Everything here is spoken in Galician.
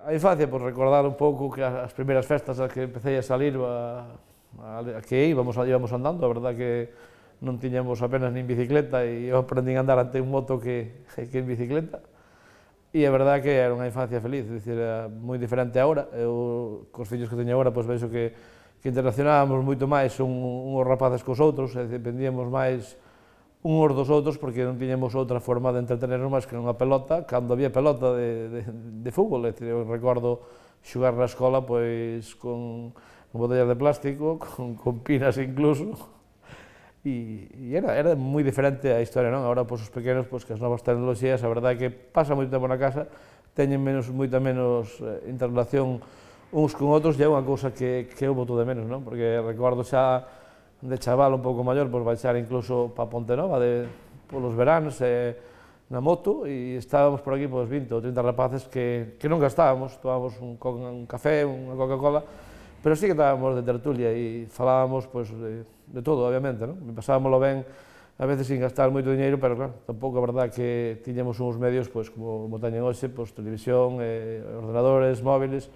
A infancia, pues recordar un pouco que as primeiras festas a que empecé a salir, a que íbamos andando, a verdad que non tiñamos apenas nin bicicleta e eu aprendín a andar ante un moto que en bicicleta. E a verdad que era unha infancia feliz, dicir, era moi diferente agora. Eu, cos fillos que teño agora, pois vexo que interaccionábamos moito máis uns rapaces cos outros, e dependíamos máis uns dos outros porque non tiñamos outra forma de entretenernos máis que nunha pelota, cando había pelota de fútbol. É dicir, eu recordo xogar na escola pois con botellas de plástico, con pinas incluso, e era moi diferente a historia, non? Agora, pois, os pequenos, pois, que as novas tecnoloxías, a verdade é que pasan moito tempo na casa, teñen moita menos interrelación uns con outros, e é unha cousa que eu boto de menos, non? Porque recordo xa de chaval un pouco maior, pois baixar incluso pa Pontenova polos veráns na moto, e estábamos por aquí pois 20 ou 30 rapaces que nunca estábamos, tomábamos un café, unha Coca-Cola, pero sí que estábamos de tertulia e falábamos pois de todo, obviamente, non? Pasábamoslo ben, a veces sin gastar moito diñeiro, pero claro, tampouco a verdad que tiñamos uns medios pois como teñen hoxe, pois televisión, ordenadores, móviles,